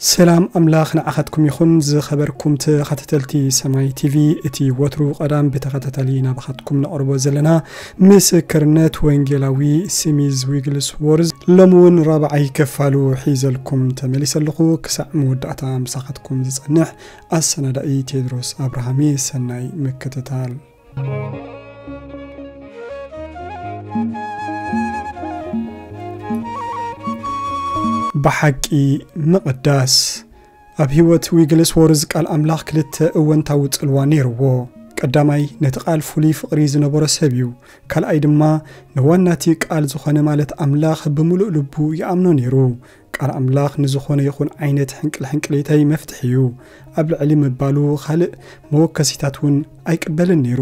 ሰላም ኣምላኽ ንዓኻትኩም ይኹን። ዝኸበርኩም ተኸታተልቲ ሰማይ ቲቪ፣ እቲ ወትሩ ቀዳም ብተኸታታሊ ናባኻትኩም ነቕርቦ ዘለና ምስክርነት ወንጌላዊ ስሚዝ ዊግልስዎርዝ ሎሚ እውን ራብዓይ ክፋሉ ሒዘልኩም ተመሊሰ ኣለኹ። ክሳዕ መወዳእታ ምሳኻትኩም ዝጸንሕ ኣሰናዳኢ ቴድሮስ ኣብርሃም። ሰናይ ምክትታል። ብሓቂ ምቕዳስ። ኣብ ህይወት ዊግልስዎርዝ ቃል ኣምላኽ ክልተ እወንታዊ ጽልዋ ነይርዎ። ቀዳማይ፣ ነቲ ቃል ፍሉይ ፍቕሪ ዝነበሮ ሰብ እዩ። ካልኣይ ድማ፣ ንዋናቲ ቃል ዝኾነ ማለት ኣምላኽ ብምሉእ ልቡ ይኣምኖ ነይሩ። ቃል ኣምላኽ ንዝኾነ ይኹን ዓይነት ሕንቅልሕንቅሊተይ መፍትሒ እዩ። ኣብ ልዕሊ ምባሉ ካልእ መወከሲታት እውን ኣይቅበልን ነይሩ።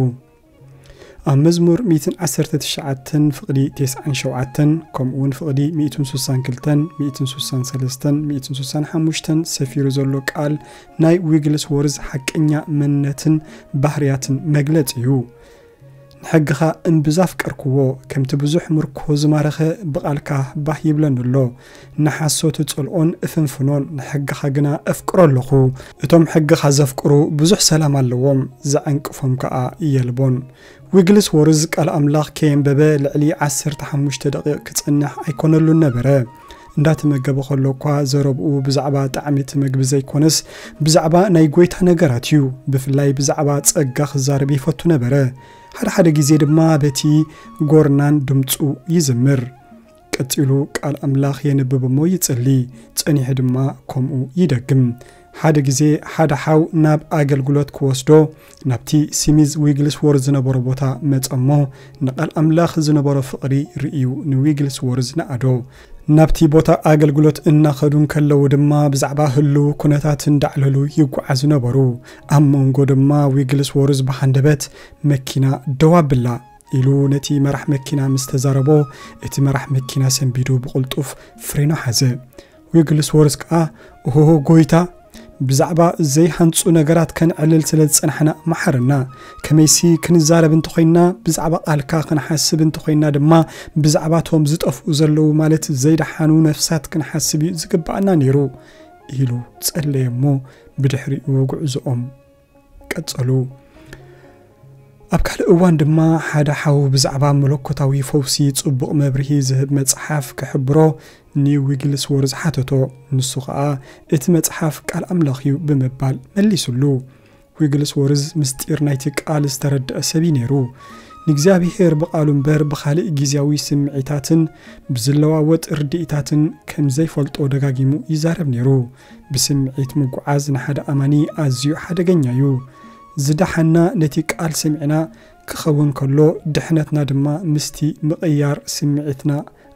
ኣብ መዝሙር ሚእትን ዓሰርተ ትሽዓተን ፍቕዲ ተስዓን ሸውዓተን፣ ከምኡ እውን ፍቕዲ ሚእትን ስሳን ክልተን፣ ሚእትን ስሳን ሰለስተን፣ ሚእትን ስሳን ሓሙሽተን ሰፊሩ ዘሎ ቃል ናይ ዊግልስዎርዝ ሓቀኛ መንነትን ባህርያትን መግለጺ እዩ። "ንሕግኻ እምብዛ ኣፍቀርክዎ፣ ከምቲ ብዙሕ ምርኮ ዝማረኸ ብቓልካ ባህ ይብለኒ ኣሎ። ንሓሶት እጸልኦን እፍንፍኖን፣ ንሕግኻ ግና እፍቅሮ ኣለኹ። እቶም ሕግኻ ዘፍቅሩ ብዙሕ ሰላም ኣለዎም፣ ዘዕንቅፎም ከኣ የልቦን።" ዊግልስዎርዝ ቃል ኣምላኽ ከየንበበ ልዕሊ ዓሰርተ ሓሙሽተ ደቂቕ ክጸንሕ ኣይኮነሉን ነበረ። እንዳተመገበ ከሎ እኳ ዘረብኡ ብዛዕባ ጣዕሚ እቲ መግቢ ዘይኮነስ፣ ብዛዕባ ናይ ጐይታ ነገራት እዩ። ብፍላይ ብዛዕባ ጸጋ ክዛረብ ይፈቱ ነበረ። ሓደ ሓደ ግዜ ድማ በቲ ጎርናን ድምጹ ይዝምር። ቀጺሉ ቃል ኣምላኽ የንብብ እሞ ይጽሊ፣ ጸኒሑ ድማ ከምኡ ይደግም። ሓደ ግዜ ሓደ ሓው ናብ ኣገልግሎት ክወስዶ ናብቲ ስሚዝ ዊግልስዎርዝ ዝነበሮ ቦታ መጸ እሞ፣ ንቃል ኣምላኽ ዝነበሮ ፍቕሪ ርእዩ ንዊግልስዎርዝ ነኣዶ። ናብቲ ቦታ ኣገልግሎት እናኸዱ እንከለዉ ድማ ብዛዕባ ህልው ኩነታት እንዳዕለሉ ይጓዓዙ ነበሩ። ኣብ መንጎ ድማ ዊግልስዎርዝ ብሃንደበት "መኪና ደው ኣብላ" ኢሉ ነቲ መራሕ መኪና ምስ ተዛረቦ፣ እቲ መራሕ መኪና ሰንቢዱ ብቕልጡፍ ፍሬኖ ሓዘ። ዊግልስዎርዝ ከኣ፣ "ኦሆ ጐይታ፣ ብዛዕባ ዘይሃንጹ ነገራት ከነዕልል ስለ ዝጸናሕና መሓረና። ከመይሲ ክንዛረብ እንተኾይንና፣ ብዛዕባ ቃልካ ክንሓስብ እንተኾይንና ድማ፣ ብዛዕባ እቶም ዝጠፍኡ ዘለዉ፣ ማለት ዘይደሓኑ ነፍሳት ክንሓስብ እዩ ዝግብኣና ነይሩ" ኢሉ ጸለየ እሞ፣ ብድሕሪኡ ጉዕዞኦም ቀጸሉ። ኣብ ካልእ እዋን ድማ ሓደ ሓው ብዛዕባ መለኮታዊ ፈውሲ ጽቡቕ መብርሂ ዝህብ መጽሓፍ ክሕብሮ ንዊግልስዎርዝ ሓተቶ። ንሱ ኸኣ፣ "እቲ መጽሓፍ ቃል ኣምላኽ እዩ" ብምባል መሊሱሉ። ዊግልስዎርዝ ምስጢር ናይቲ ቃል ዝተረድአ ሰብ እዩ ነይሩ። ንእግዚኣብሄር ብቓሉ እምበር ብኻልእ ግዝያዊ ስምዒታትን ብዝለዋወጥ ርድኢታትን ከም ዘይፈልጦ ደጋጊሙ ይዛረብ ነይሩ። ብስምዒት ምጉዓዝ ንሓደ ኣማኒ ኣዝዩ ሓደገኛ እዩ። ዝደሓና ነቲ ቃል ሰሚዕና ክኸውን ከሎ፣ ድሕነትና ድማ ምስቲ ምቕያር ስምዒትና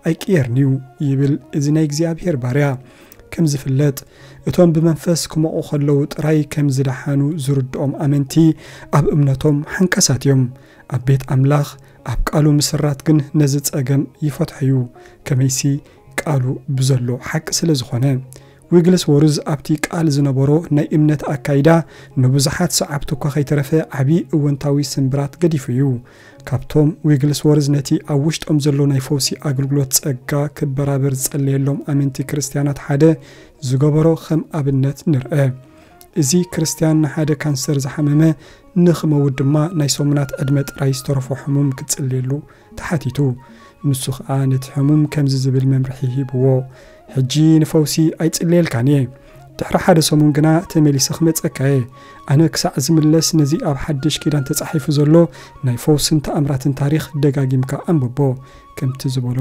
ኣይቅየርን እዩ ይብል እዚ ናይ እግዚኣብሄር ባርያ። ከም ዝፍለጥ፣ እቶም ብመንፈስ ክመቑ ከለዉ ጥራይ ከም ዝደሓኑ ዝርድኦም ኣመንቲ፣ ኣብ እምነቶም ሓንካሳት እዮም። ኣብ ቤት ኣምላኽ፣ ኣብ ቃሉ ምስራት ግን ነዚ ጸገም ይፈትሖ እዩ። ከመይሲ፣ ቃሉ ብዘሎ ሓቂ ስለ ዝኾነ። ዊግልስዎርዝ ኣብቲ ቃል ዝነበሮ ናይ እምነት ኣካይዳ፣ ንብዙሓት ሰዓብቱ እኳ ከይተረፈ ዓቢ እወንታዊ ስምብራት ገዲፉ እዩ። ካብቶም ዊግልስዎርዝ ነቲ ኣብ ውሽጦም ዘሎ ናይ ፈውሲ ኣገልግሎት ጸጋ ክበራበር ዝጸለየሎም ኣመንቲ ክርስትያናት ሓደ ዝገበሮ ከም ኣብነት ንርአ። እዚ ክርስትያን ንሓደ ካንሰር ዝሓመመ ንኽመውት ድማ ናይ ሰሙናት ዕድመ ጥራይ ዝተረፎ ሕሙም ክጽልየሉ ተሓቲቱ። ንሱ ኸኣ ነቲ ሕሙም ከምዚ ዝብል መምርሒ ሂብዎ፣ "ሕጂ ንፈውሲ ኣይጽልየልካን እየ። ድሕሪ ሓደ ሰሙን ግና ተመሊሰ ክመጸካ እየ። ኣነ ክሳዕ ዝምለስ ነዚ ኣብ ሓድሽ ኪዳን ተጻሒፉ ዘሎ ናይ ፈውስን ተኣምራትን ታሪኽ ደጋጊምካ ኣንብቦ" ከምቲ ዝበሎ፣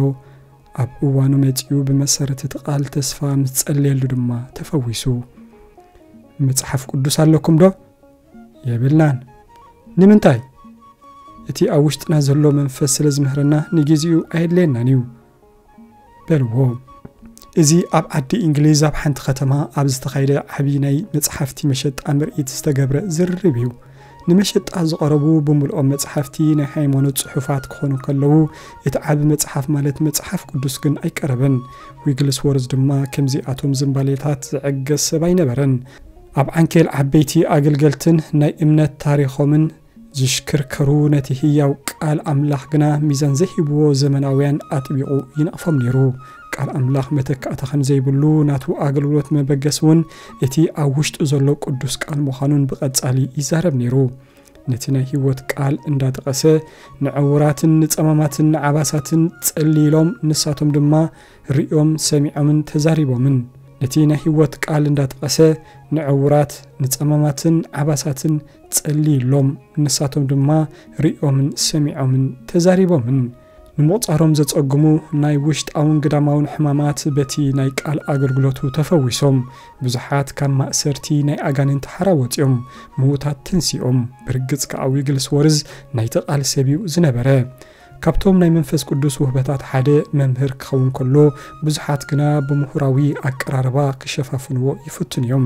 ኣብ እዋኑ መጺኡ ብመሰረት እቲ ቃል ተስፋ ምስ ጸለየሉ ድማ ተፈዊሱ። "መጽሓፍ ቅዱስ ኣለኩም ዶ?" "የብልናን።" "ንምንታይ?" "እቲ ኣብ ውሽጥና ዘሎ መንፈስ ስለ ዝምህረና ንግዜኡ ኣየድልየናን እዩ" በልዎ። እዚ ኣብ ዓዲ እንግሊዝ ኣብ ሓንቲ ከተማ ኣብ ዝተኻየደ ዓቢ ናይ መጽሓፍቲ መሸጣ ምርኢት ዝተገብረ ዝርርብ እዩ። ንመሸጣ ዝቐረቡ ብምልኦም መጽሓፍቲ ናይ ሃይማኖት ጽሑፋት ክኾኑ ከለዉ፣ እቲ ዓቢ መጽሓፍ ማለት መጽሓፍ ቅዱስ ግን ኣይቀረበን። ዊግልስዎርዝ ድማ ከምዚኣቶም ዝንባሌታት ዝዕገስ ሰብ ኣይነበረን። ኣብ ዓንኬል ዓበይቲ ኣገልገልትን ናይ እምነት ታሪኾምን ዝሽክርከሩ ነቲ ህያው ቃል ኣምላኽ ግና ሚዛን ዘይህብዎ ዘመናውያን ኣጥቢቑ ይነቕፎም ነይሩ። ቃል ኣምላኽ መተካእታ ከም ዘይብሉ፣ ናቱ ኣገልግሎት መበገሲ እውን እቲ ኣብ ውሽጡ ዘሎ ቅዱስ ቃል ምዃኑን ብቐጻሊ ይዛረብ ነይሩ። ነቲ ናይ ህይወት ቃል እንዳጠቐሰ፣ ንዕውራትን ንጸማማትን ንዓባሳትን ጸልይሎም፣ ንሳቶም ድማ ርእዮም፣ ሰሚዖምን ተዛሪቦምን። ነቲ ናይ ህይወት ቃል እንዳጠቐሰ፣ ንዕውራት፣ ንጸማማትን ዓባሳትን ጸልይሎም፣ ንሳቶም ድማ ርእዮምን ሰሚዖምን ተዛሪቦምን። ንምቑጻሮም ዘጸግሙ ናይ ውሽጣውን ግዳማውን ሕማማት በቲ ናይ ቃል ኣገልግሎቱ ተፈዊሶም። ብዙሓት ካብ ማእሰርቲ ናይ ኣጋንንቲ ሓራ ወጺኦም፣ ምዉታት ተንሲኦም። ብርግጽ ከኣ ዊግልስወርዝ ናይቲ ቃል ሰብ እዩ ዝነበረ። ካብቶም ናይ መንፈስ ቅዱስ ውህበታት ሓደ መምህር ክኸውን ከሎ፣ ብዙሓት ግና ብምሁራዊ ኣቀራርባ ክሸፋፍንዎ ይፍትኑ እዮም።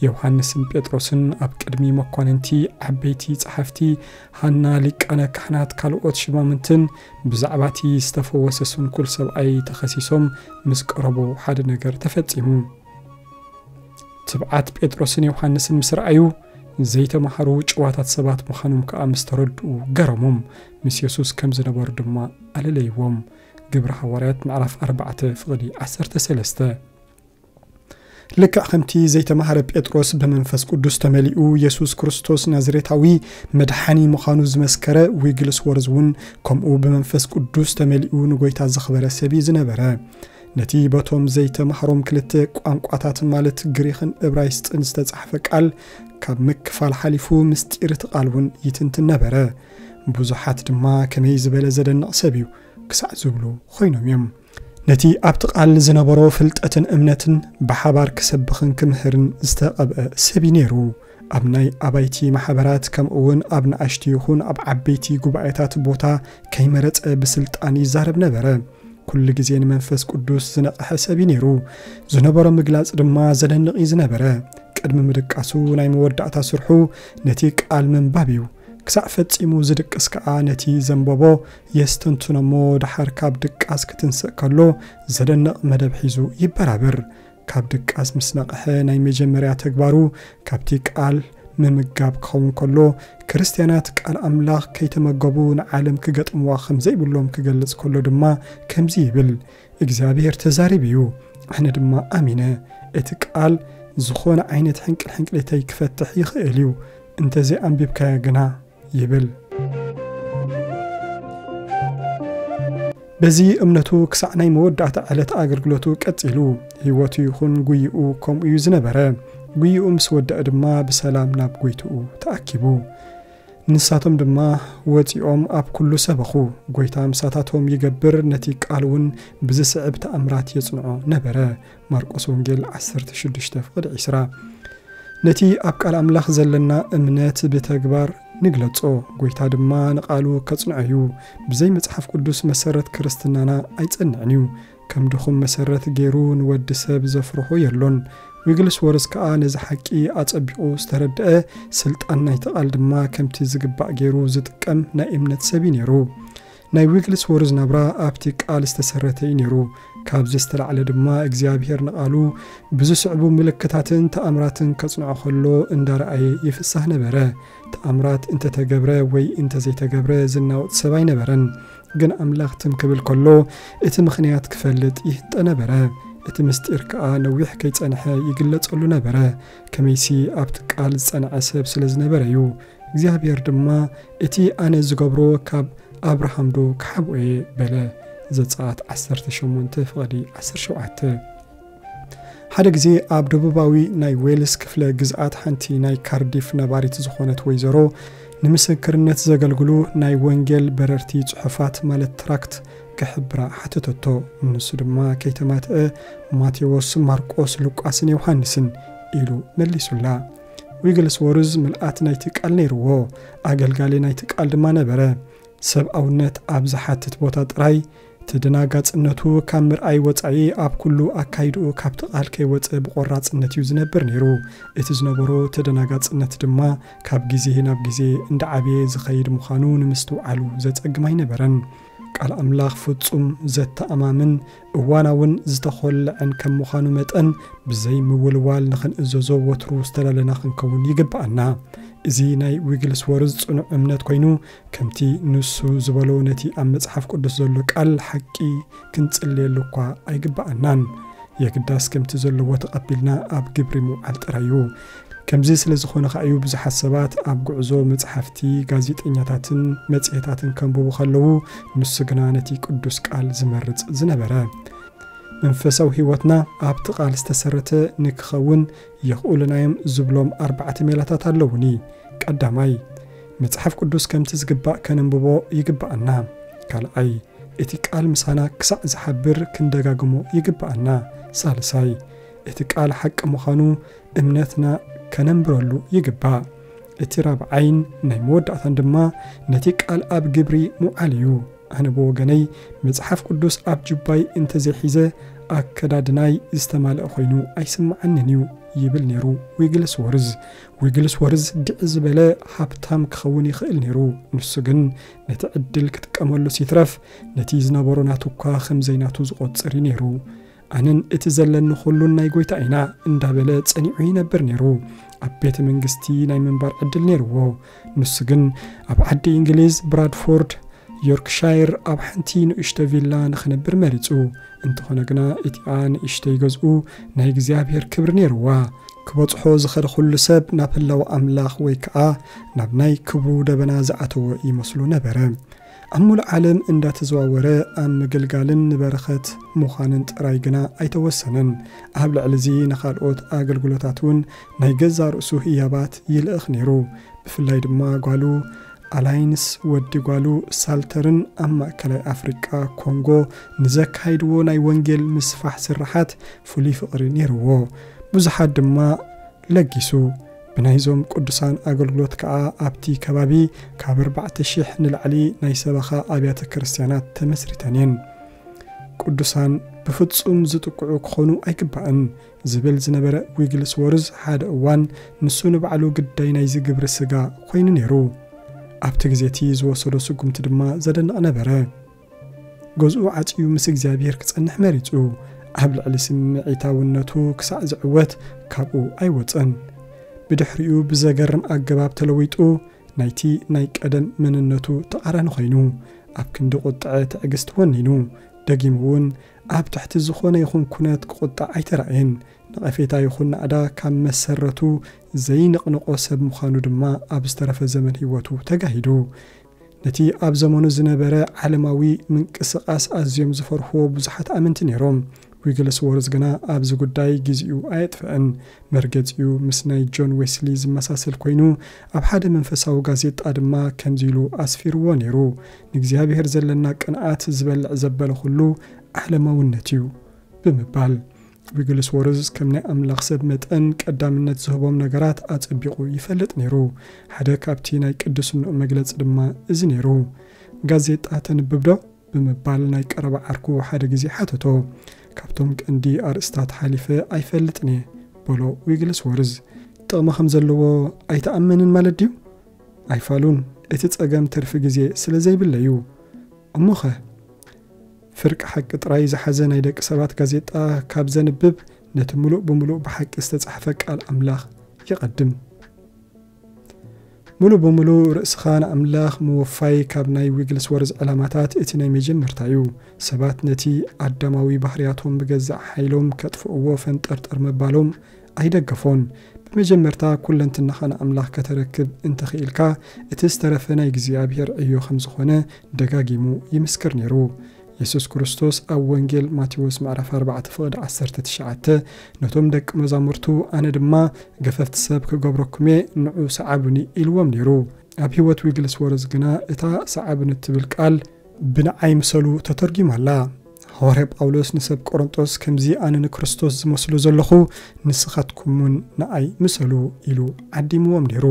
ዮሃንስን ጴጥሮስን ኣብ ቅድሚ መኳንንቲ፣ ዓበይቲ ጸሓፍቲ፣ ሃና ሊቃነ ካህናት፣ ካልኦት ሽማምንትን ብዛዕባ እቲ ዝተፈወሰ ስንኩል ሰብኣይ ተኸሲሶም ምስ ቀረቡ ሓደ ነገር ተፈጺሙ። ትብዓት ጴጥሮስን ዮሃንስን ምስ ረኣዩ፣ ዘይተማሃሩ ጭዋታት ሰባት ምዃኖም ከኣ ምስ ተረድኡ ገረሞም። ምስ የሱስ ከም ዝነበሩ ድማ ኣለለይዎም። ግብሪ ሃዋርያት ምዕራፍ ኣርባዕተ ፍቕዲ ዓሰርተ ሰለስተ። ልክዕ ከምቲ ዘይተማሃረ ጴጥሮስ ብመንፈስ ቅዱስ ተመሊኡ የሱስ ክርስቶስ ናዝሬታዊ መድሓኒ ምዃኑ ዝመስከረ፣ ዊግልስወርዝ እውን ከምኡ ብመንፈስ ቅዱስ ተመሊኡ ንጎይታ ዘኽበረ ሰብ እዩ ዝነበረ። ነቲ በቶም ዘይተማህሮም ክልተ ቋንቋታት ማለት ግሪኽን እብራይስጥን ዝተጻሕፈ ቃል ካብ ምክፋል ሓሊፉ ምስጢር እቲ ቃል እውን ይትንትን ነበረ። ብዙሓት ድማ ከመይ ዝበለ ዘደንቕ ሰብ እዩ ክሳዕ ዝብሉ ኮይኖም እዮም። ነቲ ኣብቲ ቃል ዝነበሮ ፍልጠትን እምነትን ብሓባር ክሰብኽን ክምህርን ዝተቐብአ ሰብ እዩ ነይሩ። ኣብ ናይ ኣባይቲ ማሕበራት ከምኡ እውን ኣብ ንኣሽቱ ይኹን ኣብ ዓበይቲ ጉባኤታት ቦታ ከይመረጸ ብስልጣን ይዛረብ ነበረ። ኩሉ ግዜ ንመንፈስ ቅዱስ ዝነቕሐ ሰብ እዩ ነይሩ። ዝነበሮ ምግላጽ ድማ ዘደንቕ እዩ ዝነበረ። ቅድሚ ምድቃሱ ናይ መወዳእታ ስርሑ ነቲ ቃል ምንባብ እዩ። ክሳዕ ፈጺሙ ዝድቅስ ከኣ ነቲ ዘንበቦ የስተንትኖ እሞ ደሓር ካብ ድቃስ ክትንስእ ከሎ ዘደንቕ መደብ ሒዙ ይበራብር። ካብ ድቃስ ምስ ነቕሐ ናይ መጀመርያ ተግባሩ ካብቲ ቃል ምምጋብ ክኸውን ከሎ፣ ክርስትያናት ቃል ኣምላኽ ከይተመገቡ ንዓለም ክገጥምዋ ከም ዘይብሎም ክገልጽ ከሎ ድማ ከምዚ ይብል፣ እግዚኣብሔር ተዛሪቡ እዩ፣ ኣነ ድማ ኣሚነ። እቲ ቃል ዝኾነ ዓይነት ሕንቅል ሕንቅሊተይ ክፈትሕ ይኽእል እዩ፣ እንተዘይኣንቢብካዮ ግና ይብል። በዚ እምነቱ ክሳዕ ናይ መወዳእታ ዕለት ኣገልግሎቱ ቀጺሉ። ህይወቱ ይኹን ጉይኡ ከምኡ እዩ ዝነበረ። ጉይኡ ምስ ወደአ ድማ ብሰላም ናብ ጎይትኡ ተኣኪቡ። ንሳቶም ድማ ወጺኦም ኣብ ኩሉ ሰበኹ። ጎይታ ምሳታቶም ይገብር፣ ነቲ ቃል እውን ብዝስዕብ ተኣምራት የጽንዖ ነበረ። ማርቆስ ወንጌል ዓሰርተ ሽዱሽተ ፍቕዲ ዕስራ። ነቲ ኣብ ቃል ኣምላኽ ዘለና እምነት ብተግባር ንግለጾ። ጎይታ ድማ ንቓሉ ከጽንዖ እዩ። ብዘይ መጽሓፍ ቅዱስ መሰረት ክርስትናና ኣይጸንዕን እዩ። ከም ድኹም መሰረት ገይሩ ንወዲ ሰብ ዘፍርሆ የሎን። ዊግልስወርዝ ከኣ ነዚ ሓቂ ኣጸቢቑ ዝተረድአ፣ ስልጣን ናይቲ ቃል ድማ ከምቲ ዝግባእ ገይሩ ዝጥቀም ናይ እምነት ሰብ እዩ ነይሩ። ናይ ዊግልስወርዝ ናብራ ኣብቲ ቃል ዝተሰረተ እዩ ነይሩ። ካብዚ ዝተላዕለ ድማ እግዚኣብሔር ንቓሉ ብዝስዕቡ ምልክታትን ተኣምራትን ከጽንዖ ከሎ እንዳረኣየ ይፍሳህ ነበረ። ተኣምራት እንተተገብረ ወይ እንተዘይተገብረ ዝናወጥ ሰብ ኣይነበረን። ግን ኣምላኽ ትም ክብል ከሎ እቲ ምኽንያት ክፈልጥ ይህንጠ ነበረ። እቲ ምስጢር ከኣ ነዊሕ ከይጸንሐ ይግለጸሉ ነበረ። ከመይሲ ኣብቲ ቃል ዝጸንዐ ሰብ ስለ ዝነበረ እዩ። እግዚኣብሔር ድማ እቲ ኣነ ዝገብሮ ካብ ኣብርሃም ዶ ክሓብኦ እየ በለ። ዘጸኣት ዓሰርተ ሸሞንተ ፍቕዲ ዓሰርተ ሸውዓተ። ሓደ ግዜ ኣብ ደቡባዊ ናይ ዌልስ ክፍለ ግዝኣት ሓንቲ ናይ ካርዲፍ ነባሪት ዝኾነት ወይዘሮ ንምስክርነት ዘገልግሉ ናይ ወንጌል በረርቲ ጽሑፋት ማለት ትራክት ክሕብራ ሓተተቶ። ንሱ ድማ ከይተማትአ ማቴዎስ፣ ማርቆስ፣ ሉቃስን ዮሃንስን ኢሉ መሊሱላ። ዊግልስወርዝ ምልኣት ናይቲ ቃል ነይርዎ፣ ኣገልጋሊ ናይቲ ቃል ድማ ነበረ። ሰብኣውነት ኣብ ዝሓትት ቦታ ጥራይ ተደናጋጽነቱ ካብ ምርኣይ ወጻኢ ኣብ ኩሉ ኣካይድኡ ካብቲ ቃል ከይወጸ ብቆራጽነት እዩ ዝነብር ነይሩ። እቲ ዝነበሮ ተደናጋጽነት ድማ ካብ ግዜ ናብ ግዜ እንዳዓበየ ዝኸይድ ምዃኑ ንምስትውዓሉ ዘጸግም ኣይነበረን። ቃል ኣምላኽ ፍጹም፣ ዘተኣማምን እዋናውን ዝተኾልዐን ከም ምዃኑ መጠን፣ ብዘይ ምውልዋል ንኽንእዘዞ ወትሩ ዝተዳለና ክንከውን ይግብኣና። እዚ ናይ ዊግልስወርዝ ጽኑዕ እምነት ኮይኑ፣ ከምቲ ንሱ ዝበሎ ነቲ ኣብ መጽሓፍ ቅዱስ ዘሎ ቃል ሓቂ ክንጽልየሉ እኳ ኣይግብኣናን። የግዳስ ከምቲ ዘለዎ ተቐቢልና ኣብ ግብሪ ምውዓል ጥራይ እዩ። ከምዚ ስለ ዝኾነ ከኣ እዩ ብዙሓት ሰባት ኣብ ጉዕዞ መጽሓፍቲ፣ ጋዜጠኛታትን መጽሔታትን ከንብቡ ከለዉ፣ ንሱ ግና ነቲ ቅዱስ ቃል ዝመርጽ ዝነበረ። መንፈሳዊ ህይወትና ኣብቲ ቃል ዝተሰረተ ንክኸውን የኽእሉና እዮም ዝብሎም ኣርባዕተ ሜላታት ኣለዉኒ። ቀዳማይ፣ መጽሓፍ ቅዱስ ከምቲ ዝግባእ ከነንብቦ ይግብኣና። ካልኣይ፣ እቲ ቃል ምሳና ክሳዕ ዝሓብር ክንደጋግሞ ይግብኣና። ሳልሳይ፣ እቲ ቃል ሓቂ ምዃኑ እምነትና ከነንብረሉ ይግባእ። እቲ ራብዓይን ናይ መወዳእታን ድማ ነቲ ቃል ኣብ ግብሪ ምውዓል እዩ። ኣነ ብወገነይ መጽሓፍ ቅዱስ ኣብ ጁባይ እንተዘይሒዘ ኣከዳድናይ ዝተማልአ ኮይኑ ኣይስምዓንን እዩ ይብል ነይሩ ዊግልስወርዝ። ዊግልስወርዝ ድዒ ዝበለ ሃብታም ክኸውን ይኽእል ነይሩ። ንሱ ግን ነቲ ዕድል ክጥቀመሉ ሲትረፍ ነቲ ዝነበሮ ናቱ እኳ ከም ዘይናቱ ዝቖጽር እዩ ነይሩ። ኣነን እቲ ዘለኒ ኩሉን ናይ ጎይታ ኢና እንዳበለ ጸኒዑ ይነብር ነይሩ። ኣብ ቤተ መንግስቲ ናይ ምንባር ዕድል ነይርዎ። ንሱ ግን ኣብ ዓዲ እንግሊዝ ብራድፎርድ ዮርክሻየር ኣብ ሓንቲ ንእሽቶ ቪላ ንኽነብር መሪጹ። እንተኾነ ግና እቲኣ ንእሽተይ ገዝኡ ናይ እግዚኣብሔር ክብሪ ነይርዋ። ክበጽሖ ዝኸደ ኩሉ ሰብ ናብ ህላወ ኣምላኽ ወይ ከኣ ናብ ናይ ክብሩ ደበና ዝኣተወ ይመስሎ ነበረ። ኣብ ሙሉእ ዓለም እንዳተዘዋወረ ኣብ ምግልጋልን ንበረኸት ምዃንን ጥራይ ግና ኣይተወሰነን። ኣብ ልዕሊ እዚ ንኻልኦት ኣገልግሎታት እውን ናይ ገዛ ርእሱ ህያባት ይልእኽ ነይሩ። ብፍላይ ድማ ጓሉ ኣላይንስ ወዲ ጓሉ ሳልተርን ኣብ ማእከላይ ኣፍሪቃ ኮንጎ ንዘካይድዎ ናይ ወንጌል ምስፋሕ ስርሓት ፍሉይ ፍቕሪ ነይርዎ። ብዙሓት ድማ ለጊሱ። ብናይዞም ቅዱሳን ኣገልግሎት ከኣ ኣብቲ ከባቢ ካብ ኣርባዕተ ሽሕ ንላዕሊ ናይ ሰበኻ ኣብያተ ክርስቲያናት ተመስሪተን እየን። ቅዱሳን ብፍጹም ዝጥቅዑ ክኾኑ ኣይግባእን ዝብል ዝነበረ ዊግልስወርዝ ሓደ እዋን ንሱ ንባዕሉ ግዳይ ናይዚ ግብሪ ስጋ ኮይኑ ነይሩ። ኣብቲ ግዜ እቲ ዝወሰዶ ስጉምቲ ድማ ዘደንቕ ነበረ። ገዝኡ ዓጽዩ ምስ እግዚኣብሔር ክጸንሕ መሪጹ። ኣብ ልዕሊ ስምዒታውነቱ ክሳዕ ዝዕወት ካብኡ ኣይወጸን። ብድሕሪኡ ብዘገርም ኣገባብ ተለዊጡ ናይቲ ናይ ቀደም መንነቱ ተቓራኒ ኮይኑ፣ ኣብ ክንዲ ቁጥዐ ትዕግስቲ ወኒኑ። ደጊሙ እውን ኣብ ትሕቲ ዝኾነ ይኹን ኩነት ክቁጣዕ ኣይተራእየን። ነቐፌታ ይኹን ናእዳ ካብ መሰረቱ ዘይንቕንቆ ሰብ ምዃኑ ድማ ኣብ ዝተረፈ ዘመን ህይወቱ ተጋሂዱ። ነቲ ኣብ ዘመኑ ዝነበረ ዓለማዊ ምንቅስቓስ ኣዝዮም ዝፈርህዎ ብዙሓት ኣመንቲ ነይሮም። ዊግልስዎርዝ ግና ኣብዚ ጉዳይ ግዜኡ ኣየጥፍአን። መርገጺኡ ምስ ናይ ጆን ዌስሊ ዝመሳሰል ኮይኑ፣ ኣብ ሓደ መንፈሳዊ ጋዜጣ ድማ ከምዚ ኢሉ ኣስፊርዎ ነይሩ፣ "ንእግዚኣብሔር ዘለና ቅንኣት ዝበልዕ ዘበለ ኩሉ ዓለማውነት እዩ" ብምባል። ዊግልስዎርዝ ከም ናይ ኣምላኽ ሰብ መጠን ቀዳምነት ዝህቦም ነገራት ኣጸቢቑ ይፈልጥ ነይሩ። ሓደ ካብቲ ናይ ቅድስንኡ መግለጺ ድማ እዚ ነይሩ። "ጋዜጣ ተንብብ ዶ?" ብምባል ናይ ቀረባ ዓርኩ ሓደ ግዜ ሓተቶ። "ካብቶም ቀንዲ ኣርእስታት ሓሊፈ ኣይፈልጥን እየ" በሎ ዊግልስዎርዝ። "ጥቕሚ ከም ዘለዎ ኣይትኣምንን ማለት ድዩ?" "ኣይፋሉን፣ እቲ ጸገም ትርፊ ግዜ ስለ ዘይብለይ እዩ።" "እሞኸ?" "ፍርቂ ሓቂ ጥራይ ዝሓዘ ናይ ደቂ ሰባት ጋዜጣ ካብ ዘንብብ፣ ነቲ ምሉእ ብምሉእ ብሓቂ ዝተጻሕፈ ቃል ኣምላኽ ይቐድም።" ምሉእ ብምሉእ ርእስኻ ንኣምላኽ ምውፋይ ካብ ናይ ዊግልስወርዝ ዕላማታት እቲ ናይ መጀመርታ እዩ። ሰባት ነቲ ኣዳማዊ ባህርያቶም ብገዛእ ሓይሎም ከጥፍእዎ ፈንጠርጠር ምባሎም ኣይደገፎን። ብመጀመርታ ኩለንትናኻ ንኣምላኽ ከተረክብ እንተኽኢልካ፣ እቲ ዝተረፈ ናይ እግዚኣብሔር ዕዮ ከም ዝኾነ ደጋጊሙ ይምስክር ነይሩ። የሱስ ክርስቶስ ኣብ ወንጌል ማቴዎስ ምዕራፍ ኣርባዕተ ፍቕዲ ዓሰርተ ትሽዓተ፣ ነቶም ደቂ መዛሙርቱ፣ "ኣነ ድማ ገፈፍቲ ሰብ ክገብረኩም እየ፣ ንዑ ሰዓቡኒ" ኢልዎም ነይሩ። ኣብ ህይወት ዊግልስወርዝ ግና እታ "ሰዓቡኒ" እትብል ቃል "ብንዓይ ምሰሉ" ተተርጒማ ኣላ። ሃዋርያ ጳውሎስ ንሰብ ቆሮንጦስ ከምዚ ኣነ ንክርስቶስ ዝመስሎ ዘለኹ፣ ንስኻትኩም እውን ንኣይ ምሰሉ ኢሉ ዓዲምዎም ነይሩ።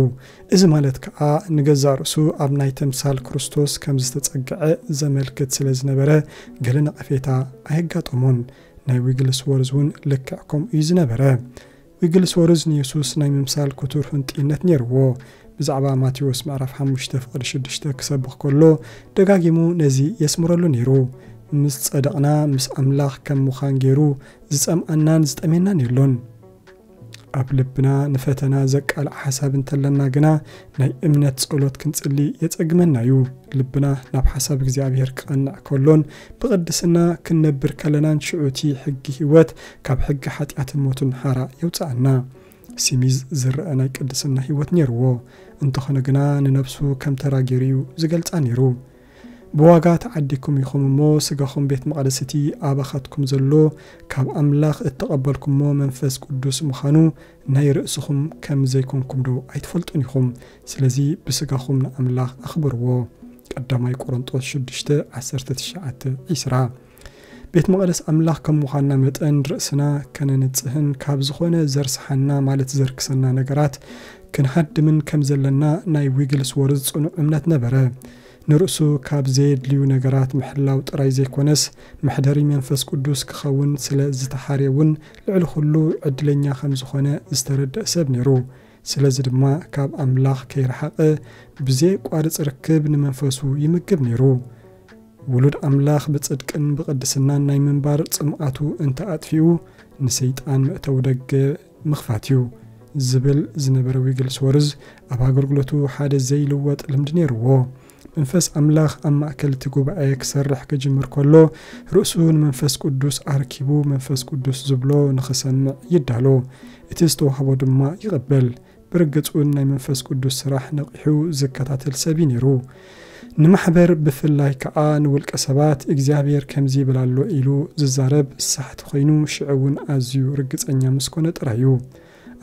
እዚ ማለት ከኣ ንገዛእ ርእሱ ኣብ ናይ ተምሳል ክርስቶስ ከም ዝተጸግዐ ዘመልክት ስለ ዝነበረ፣ ገለ ነቐፌታ ኣየጋጠሞን። ናይ ዊግልስወርዝ እውን ልክዕ ከምኡ እዩ ዝነበረ። ዊግልስወርዝ ንየሱስ ናይ ምምሳል ክቱር ህንጥይነት ነይርዎ። ብዛዕባ ማቴዎስ ምዕራፍ ሓሙሽተ ፍቕዲ ሽዱሽተ ክሰብኽ ከሎ ደጋጊሙ ነዚ የስምረሉ ነይሩ። ምስ ጸደቕና ምስ ኣምላኽ ከም ምዃን ገይሩ ዝጸምኣናን ዝጠሜናን የሎን። ኣብ ልብና ንፈተና ዘቃልዕ ሓሳብ እንተለና ግና ናይ እምነት ጸሎት ክንጽሊ የጸግመና እዩ። ልብና ናብ ሓሳብ እግዚኣብሔር ክቐንዕ ከሎን ብቕድስና ክንነብር ከለናን ሽዑ እቲ ሕጊ ህይወት ካብ ሕጊ ሓጢኣትን ሞትን ሓራ የውጽኣና። ሲሚዝ ዝረአ ናይ ቅድስና ህይወት ነይርዎ። እንተኾነ ግና ንነብሱ ከም ተራ ገይሩ እዩ ዝገልጻ ነይሩ። ብዋጋ ተዓዲኩም ኢኹም እሞ ስጋኹም ቤት መቕደስ እቲ ኣባኻትኩም ዘሎ ካብ ኣምላኽ እተቐበልኩሞ መንፈስ ቅዱስ ምዃኑ ናይ ርእስኹም ከም ዘይኮንኩም ዶ ኣይትፈልጡን ኢኹም? ስለዚ ብስጋኹም ንኣምላኽ ኣኽብርዎ። ቀዳማይ ቆሮንጦስ ሽዱሽተ ዓሰርተ ትሽዓተ ዒስራ። ቤት መቕደስ ኣምላኽ ከም ምዃንና መጠን ርእስና ከነንጽህን ካብ ዝኾነ ዘርስሓና ማለት ዘርክሰና ነገራት ክንሃድምን ከም ዘለና ናይ ዊግልስወርዝ ጽኑዕ እምነት ነበረ። ንርእሱ ካብ ዘየድልዩ ነገራት ምሕላው ጥራይ ዘይኮነስ መሕደሪ መንፈስ ቅዱስ ክኸውን ስለ ዝተሓርየ እውን ልዕሊ ኩሉ ዕድለኛ ከም ዝኾነ ዝተረድአ ሰብ ነይሩ። ስለዚ ድማ ካብ ኣምላኽ ከይረሓቐ ብዘየቋርጽ ርክብ ንመንፈሱ ይምግብ ነይሩ። ውሉድ ኣምላኽ ብጽድቅን ብቕድስናን ናይ ምንባር ጽምኣቱ እንተ ኣጥፊኡ ንሰይጣን መእተዊ ደገ ምኽፋት እዩ ዝብል ዝነበረ ዊግልስወርዝ ኣብ ኣገልግሎቱ ሓደ ዘይልወጥ ልምዲ ነይርዎ። መንፈስ ኣምላኽ ኣብ ማእከል እቲ ጉባኤ ክሰርሕ ክጅምር ከሎ ርእሱ ንመንፈስ ቅዱስ ኣርኪቡ መንፈስ ቅዱስ ዝብሎ ንኽሰምዕ ይዳሎ። እቲ ዝተዋህቦ ድማ ይቕበል። ብርግጽ እውን ናይ መንፈስ ቅዱስ ስራሕ ነቒሑ ዝከታተል ሰብ እዩ ነይሩ። ንማሕበር ብፍላይ ከኣ ንውልቀ ሰባት እግዚኣብሔር ከምዚ ይብል ኣሎ ኢሉ ዝዛረብ ሳሕቲ ኮይኑ ሽዑ እውን ኣዝዩ ርግጸኛ ምስ ኮነ ጥራይ እዩ።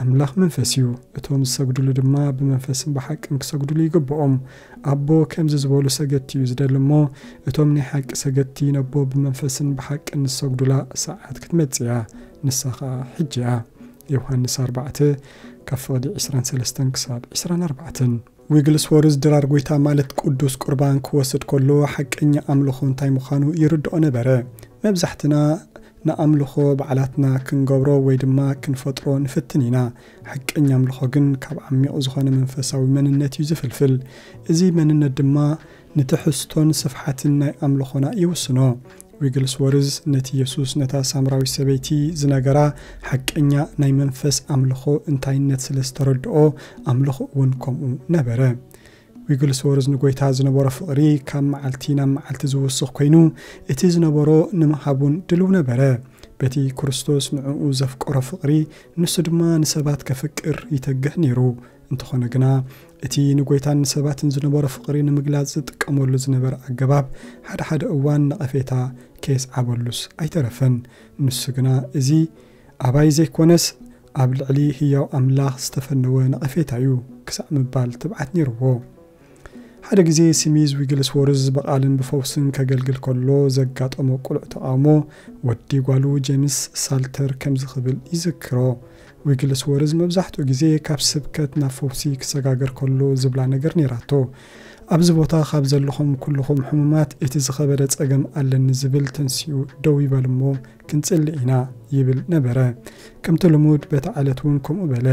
ኣምላኽ መንፈስ እዩ፣ እቶም ዝሰግዱሉ ድማ ብመንፈስን ብሓቅን ክሰግዱሉ ይግብኦም። ኣቦ ከምዚ ዝበሉ ሰገድቲ እዩ ዝደሊ እሞ እቶም ናይ ሓቂ ሰገድቲ ነቦ ብመንፈስን ብሓቅን ዝሰግዱላ ሰዓት ክትመጽእ እያ፣ ንሳ ኸኣ ሕጂ እያ። ዮሃንስ ኣርባዕተ ካብ ፍቕዲ ዕስራን ሰለስተን ክሳብ ዕስራን ኣርባዕተን። ዊግልስወርዝ ድራር ጎይታ ማለት ቅዱስ ቁርባን ክወስድ ከሎ ሓቀኛ ኣምልኾ እንታይ ምዃኑ ይርድኦ ነበረ። መብዛሕትና ንኣምልኾ ባዕላትና ክንገብሮ ወይ ድማ ክንፈጥሮ ንፍትን ኢና። ሓቀኛ ኣምልኾ ግን ካብ ዓሚቕ ዝኾነ መንፈሳዊ መንነት እዩ ዝፍልፍል። እዚ መንነት ድማ ንትሕዝቶን ስፍሓትን ናይ ኣምልኾና ይውስኖ። ዊግልስወርዝ ነቲ የሱስ ነታ ሳምራዊት ሰበይቲ ዝነገራ ሓቀኛ ናይ መንፈስ ኣምልኾ እንታይነት ስለ ዝተረድኦ ኣምልኾ እውን ከምኡ ነበረ። ዊግልስወርዝ ንጎይታ ዝነበሮ ፍቕሪ ካብ መዓልቲ ናብ መዓልቲ ዝውስኽ ኮይኑ እቲ ዝነበሮ ንምሃቡን ድልው ነበረ። በቲ ክርስቶስ ንዕኡ ዘፍቀሮ ፍቕሪ ንሱ ድማ ንሰባት ከፍቅር ይተግህ ነይሩ። እንተኾነ ግና እቲ ንጎይታን ንሰባትን ዝነበሮ ፍቕሪ ንምግላጽ ዝጥቀመሉ ዝነበረ ኣገባብ ሓደ ሓደ እዋን ነቐፌታ ከየስዓበሉስ ኣይተረፈን። ንሱ ግና እዚ ኣባይ ዘይኮነስ ኣብ ልዕሊ ህያው ኣምላኽ ዝተፈነወ ነቐፌታ እዩ ክሳዕ ምባል ትብዓት ነይርዎ። ሓደ ግዜ ስሚዝ ዊግልስወርዝ ብቓልን ብፈውስን ከገልግል ከሎ ዘጋጠሞ ቅሉዕ ተቓውሞ ወዲ ጓሉ ጄምስ ሳልተር ከምዚ ክብል ይዝክሮ። ዊግልስወርዝ መብዛሕትኡ ግዜ ካብ ስብከት ናብ ፈውሲ ክሰጋገር ከሎ ዝብላ ነገር ነይራቶ። ኣብዚ ቦታ ካብ ዘለኹም ኩልኹም ሕሙማት እቲ ዝኸበደ ጸገም ኣለኒ ዝብል ተንሲኡ ደው ይበል እሞ ክንጽሊ ኢና ይብል ነበረ። ከምቲ ልሙድ በታ ዕለት እውን ከምኡ በለ።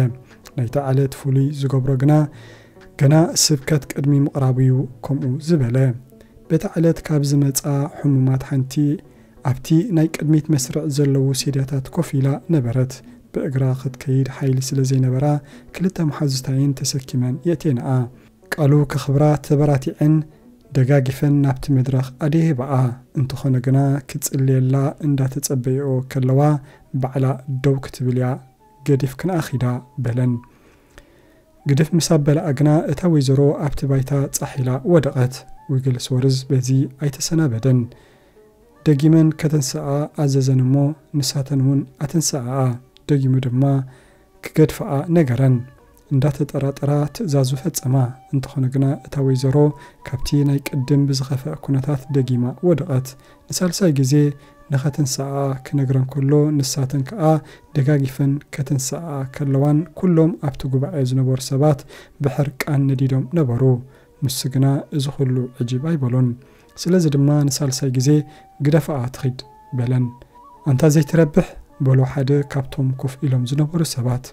ናይታ ዕለት ፍሉይ ዝገብሮ ግና ገና ስብከት ቅድሚ ምቕራቡ እዩ ከምኡ ዝበለ። በታ ዕለት ካብ ዝመጻ ሕሙማት ሓንቲ ኣብቲ ናይ ቅድሚት መስርዕ ዘለዉ ሴድያታት ኮፍ ኢላ ነበረት። ብእግራ ክትከይድ ሓይሊ ስለ ዘይነበራ ክልተ መሓዙታይን ተሰኪመን የእቴንኣ። ቃሉ ከኽብራ ተበራቲዐን ደጋጊፈን ናብቲ መድረኽ ኣደየህባኣ። እንተኾነ ግና ክጽልየላ እንዳተጸበይኦ ከለዋ ባዕላ ደው ክትብል እያ ገዲፍክንኣ ኺዳ በለን። ግድፍ ምስ ኣበላኣ ግና እታ ወይዘሮ ኣብቲ ባይታ ጻሕ ኢላ ወደቐት። ዊግልስወርዝ በዚ ኣይተሰናበደን። ደጊመን ከተንስኣ ኣዘዘን እሞ ንሳተን እውን ኣተንስኣኣ። ደጊሙ ድማ ክገድፍኣ ነገረን። እንዳተጠራጠራ ትእዛዙ ፈጸማ። እንተኾነ ግና እታ ወይዘሮ ካብቲ ናይ ቅድም ብዝኸፍአ ኩነታት ደጊማ ወደቐት። ንሳልሳይ ግዜ ንኸተንስኣ ክነግረን ከሎ ንሳተን ከኣ ደጋጊፈን ከተንስኣ ከለዋን ኩሎም ኣብቲ ጉባኤ ዝነበሩ ሰባት ብሕርቃን ነዲዶም ነበሩ። ንሱ ግና እዚ ኹሉ ዕጅብ ኣይበሎን። ስለዚ ድማ ንሳልሳይ ግዜ ግደፍኣ ትኺድ በለን። ኣንታ ዘይትረብሕ በሎ ሓደ ካብቶም ኮፍ ኢሎም ዝነበሩ ሰባት።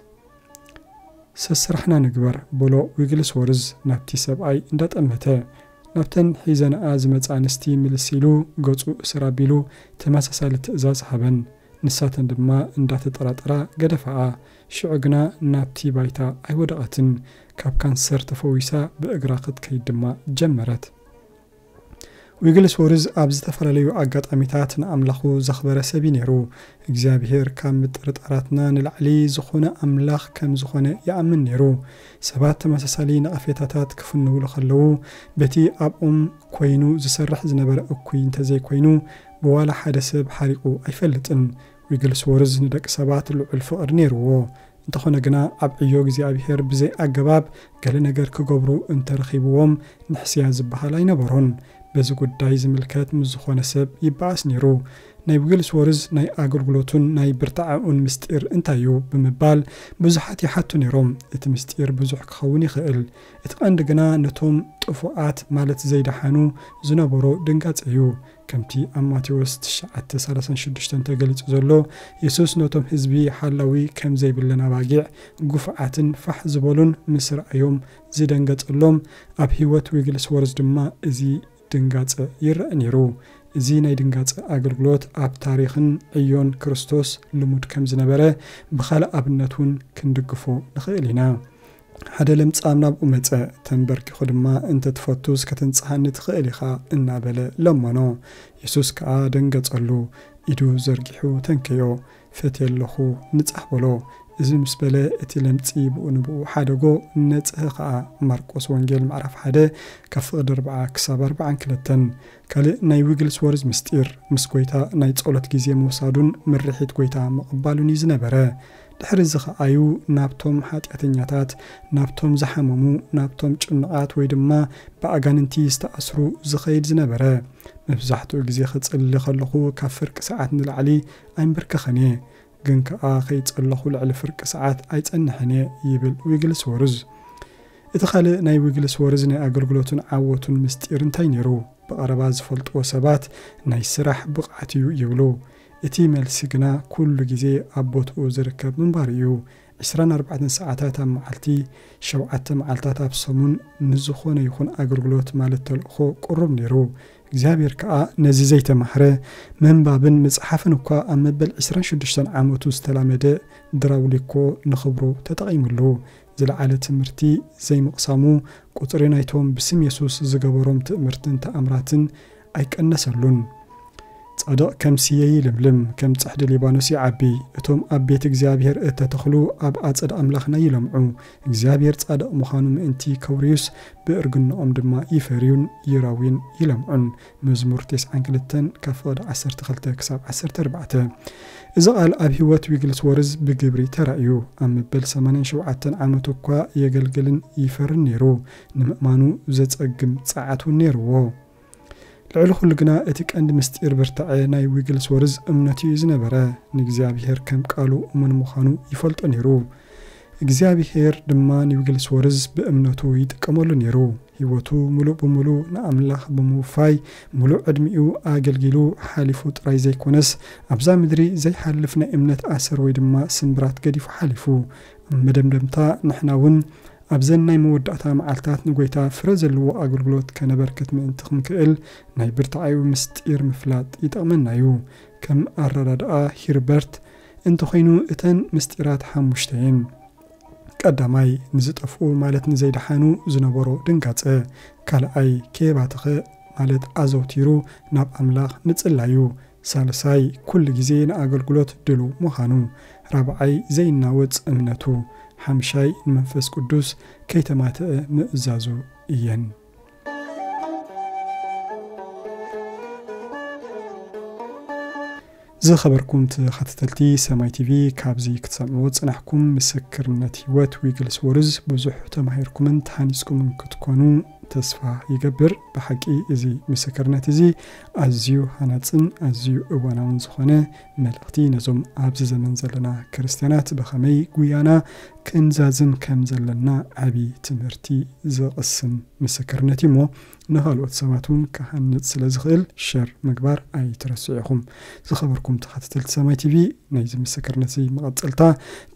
ሰስራሕና ንግበር፣ በሎ ዊግልስወርዝ ናብቲ ሰብኣይ እንዳጠመተ። ናብተን ሒዘንኣ ዝመጻ ኣንስቲ ምልስ ኢሉ፣ ገጹ እስር ኣቢሉ፣ ተመሳሳሊ ትእዛዝ ሃበን። ንሳተን ድማ እንዳተጠራጠራ ገደፋኣ። ሽዑ ግና ናብቲ ባይታ ኣይወደቐትን። ካብ ካንሰር ተፈዊሳ ብእግራ ክትከይድ ድማ ጀመረት። ዊግልስወርዝ ኣብ ዝተፈላለዩ ኣጋጣሚታት ንኣምላኹ ዘኽበረ ሰብ እዩ ነይሩ። እግዚኣብሔር ካብ ምጥርጣራትና ንላዕሊ ዝኾነ ኣምላኽ ከም ዝኾነ ይኣምን ነይሩ። ሰባት ተመሳሳሊ ነቐፌታታት ክፍንውሉ ከለዉ፣ በቲ ኣብኦም ኮይኑ ዝሰርሕ ዝነበረ እኩይ እንተዘይኮይኑ፣ ብዋላ ሓደ ሰብ ሓሪቑ ኣይፈልጥን። ዊግልስወርዝ ንደቂ ሰባት ልዑል ፍቕሪ ነይርዎ። እንተኾነ ግና፣ ኣብ ዕዮ እግዚኣብሔር ብዘይ ኣገባብ ገለ ነገር ክገብሩ እንተረኺብዎም፣ ንሕስያ ዝበሃል ኣይነበሮን። በዚ ጉዳይ ዝምልከት ምስ ዝኾነ ሰብ ይበኣስ ነይሩ። ናይ ዊግልስወርዝ ናይ ኣገልግሎቱን ናይ ብርታዐኡን ምስጢር እንታይ እዩ ብምባል ብዙሓት ይሓቱ ነይሮም። እቲ ምስጢር ብዙሕ ክኸውን ይኽእል። እቲ ቀንዲ ግና ነቶም ጥፉኣት፣ ማለት ዘይደሓኑ፣ ዝነበሮ ድንጋጸ እዩ። ከምቲ ኣብ ማቴዎስ ትሽዓተ ሰላሳን ሽዱሽተን ተገሊጹ ዘሎ፣ የሱስ ነቶም ህዝቢ ሓላዊ ከም ዘይብለን ኣባጊዕ፣ ግፉዓትን ፋሕ ዝበሉን ምስ ረኣዮም ዝደንገጸሎም፣ ኣብ ህይወት ዊግልስወርዝ ድማ እዚ ድንጋጸ ይረአ ነይሩ። እዚ ናይ ድንጋጸ ኣገልግሎት ኣብ ታሪኽን ዕዮን ክርስቶስ ልሙድ ከም ዝነበረ ብኻልእ ኣብነት እውን ክንድግፎ ንኽእል ኢና። ሓደ ለምጻም ናብኡ መጸ፣ ተንበርኪኹ ድማ፣ "እንተ ትፈቱስ ከተንጽሃኒ ትኽእል ኢኻ" እናበለ ለመኖ። የሱስ ከኣ ደንገጸሉ፣ ኢዱ ዘርጊሑ ተንከዮ፣ "ፈትየ ኣለኹ፣ ንጻህ" በሎ። እዚ ምስ በለ እቲ ለምጺ ብኡ ንብኡ ሓደጎ፣ ነጽሀ ከኣ። ማርቆስ ወንጌል ምዕራፍ ሓደ ካብ ፍቕዲ ኣርብዓ ክሳብ ኣርብዓን ክልተን። ካልእ ናይ ዊግልስወርዝ ምስጢር፣ ምስ ጐይታ ናይ ጸሎት ግዜ ምውሳዱን ምርሒት ጐይታ ምቕባሉን እዩ ዝነበረ። ድሕሪ እዚ ኸኣዩ ናብቶም ሓጢኣተኛታት፣ ናብቶም ዝሓመሙ፣ ናብቶም ጭኑቓት ወይ ድማ ብኣጋንንቲ ዝተኣስሩ ዝኸይድ ዝነበረ። መብዛሕትኡ ግዜ ክጽሊ ከለኹ ካብ ፍርቂ ሰዓት ንላዕሊ ኣይንብርከኸን እየ፣ ግን ከኣ ከይጸለኹ ልዕሊ ፍርቂ ሰዓት ኣይጸንሕን እየ ይብል ዊግልስወርዝ። እቲ ካልእ ናይ ዊግልስወርዝ ናይ ኣገልግሎቱን ዓወቱን ምስጢር እንታይ ነይሩ? ብቐረባ ዝፈልጥዎ ሰባት ናይ ስራሕ ብቕዓት እዩ ይብሉ። እቲ መልሲ ግና ኩሉ ግዜ ኣብ ቦትኡ ዝርከብ ምንባሩ እዩ። ዕስራን ኣርባዕተን ሰዓታት ኣብ መዓልቲ፣ ሸውዓተ መዓልታት ኣብ ሰሙን ንዝኾነ ይኹን ኣገልግሎት ማለት ተልእኾ ቅሩብ ነይሩ። እግዚኣብሔር ከኣ ነዚ ዘይተማህረ፣ ምንባብን ምጽሓፍን እኳ ኣብ መበል ዕስራን ሽዱሽተን ዓመቱ ዝተላመደ ድራውሊኮ ንኽብሩ ተጠቒምሉ። ዝለዓለ ትምህርቲ ዘይምቕሳሙ፣ ቁጽሪ ናይቶም ብስም የሱስ ዝገበሮም ትእምርትን ተኣምራትን ኣይቀነሰሉን። ጻድቕ ከም ስየ ይልምልም፣ ከም ጽሕዲ ሊባኖስ ይዓቢ። እቶም ኣብ ቤት እግዚኣብሔር እተተኽሉ ኣብ ኣጸድ ኣምላኽና ይለምዑ። እግዚኣብሔር ጻድቕ ምዃኑ ምእንቲ ከውርዩስ፣ ብእርግንኦም ድማ ይፈርዩን ይረውዩን ይለምዑን። መዝሙር ተስዓን ክልተን ካብ ፍቕዲ ዓሰርተ ክልተ ክሳብ ዓሰርተ ኣርባዕተ። እዚ ቓል ኣብ ህይወት ዊግልስወርዝ ብግብሪ ተራእዩ። ኣብ መበል ሰማንያን ሸውዓተን ዓመቱ እኳ የገልግልን ይፈርን ነይሩ። ንምእማኑ ዘጸግም ጸዓት እውን ነይርዎ። ልዕሊ ኩሉ ግና እቲ ቀንዲ ምስጢር ብርታዐ ናይ ዊግልስወርዝ እምነቱ እዩ ዝነበረ። ንእግዚኣብሔር ከም ቃሉ እሙን ምዃኑ ይፈልጦ ነይሩ። እግዚኣብሔር ድማ ንዊግልስወርዝ ብእምነቱ ይጥቀመሉ ነይሩ። ህይወቱ ምሉእ ብምሉእ ንኣምላኽ ብምውፋይ፣ ምሉእ ዕድሚኡ ኣገልጊሉ ሓሊፉ ጥራይ ዘይኮነስ፣ ኣብዛ ምድሪ ዘይሓልፍ ናይ እምነት ኣሰር ወይ ድማ ስምብራት ገዲፉ ሓሊፉ። ኣብ መደምደምታ፣ ንሕና እውን ኣብዘን ናይ መወዳእታ መዓልታት ንጎይታ ፍረ ዘለዎ ኣገልግሎት ከነበርክት ምእንቲ ክንክእል፣ ናይ ብርታዐኡ ምስጢር ምፍላጥ ይጠቕመና እዩ። ከም ኣረዳድኣ ሂርበርት እንተኾይኑ፣ እተን ምስጢራት ሓሙሽተ እየን። ቀዳማይ፣ ንዝጠፍኡ ማለት ንዘይደሓኑ ዝነበሮ ድንጋጸ። ካልኣይ፣ ከየባተኸ ማለት ኣዘውቲሩ ናብ ኣምላኽ ምጽላዩ። ሳልሳይ፣ ኩሉ ግዜ ንኣገልግሎት ድሉው ምዃኑ። ራብዓይ፣ ዘይናወጽ እምነቱ። ሓምሻይ፣ ንመንፈስ ቅዱስ ከይተማትአ ምእዛዙ እየን። ዝኸበርኩም ተኸታተልቲ ሰማይ ቲቪ፣ ካብዚ ክትሰምዕዎ ዝጸናሕኩም ምስክርነት ህይወት ዊግልስወርዝ ብዙሕ ተማሂርኩምን ተሃኒጽኩምን ክትኮኑ ተስፋ ይገብር። ብሓቂ እዚ ምስክርነት እዚ ኣዝዩ ሃናጽን ኣዝዩ እዋናውን ዝኾነ መልእኽቲ ነዞም ኣብዚ ዘመን ዘለና ክርስትያናት ብኸመይ ጉያና ክንዛዝም ከም ዘለና ዓቢ ትምህርቲ ዘቕስም ምስክርነት እዩ እሞ ንኻልኦት ሰባት እውን ክሃንጽ ስለ ዝኽእል ሸር ምግባር ኣይትረስዑ ኢኹም። ዝኸበርኩም ተኸታተልቲ ሰማይ ቲቪ ናይዚ ምስክርነት እዚ መቐጸልታ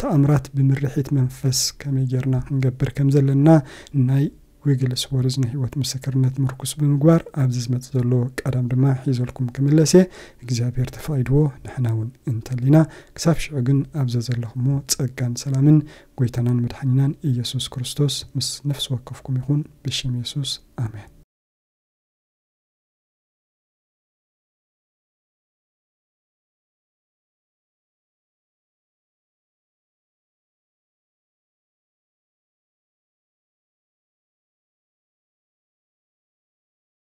ተኣምራት ብምርሒት መንፈስ ከመይ ጌርና ክንገብር ከም ዘለና ናይ ዊግልስ ወርዝ ናይ ህይወት ምስክርነት ምርኩስ ብምግባር ኣብዚ ዝመጽእ ዘሎ ቀዳም ድማ ሒዘልኩም ክምለስ እየ። እግዚኣብሔር ተፈቒድዎ ንሕና እውን እንተሊና ክሳብ ሽዑ ግን ኣብዛ ዘለኹሞ ጸጋን ሰላምን ጎይታናን መድሓኒናን ኢየሱስ ክርስቶስ ምስ ነፍሲ ወከፍኩም ይኹን ብሽም የሱስ ኣሜን።